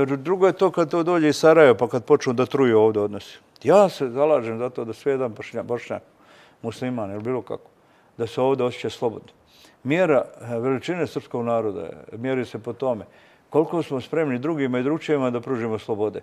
Drugo je to kad to dođe iz Sarajeva, pa kad počnu da truju ovdje odnosi. Ja se zalažem za to da sve jedan Bošnjak, musliman ili bilo kako, da se ovdje osjeća slobodno. Mjera veličine srpskog naroda mjeri se po tome koliko smo spremni drugima i drugčijima da pružimo slobode.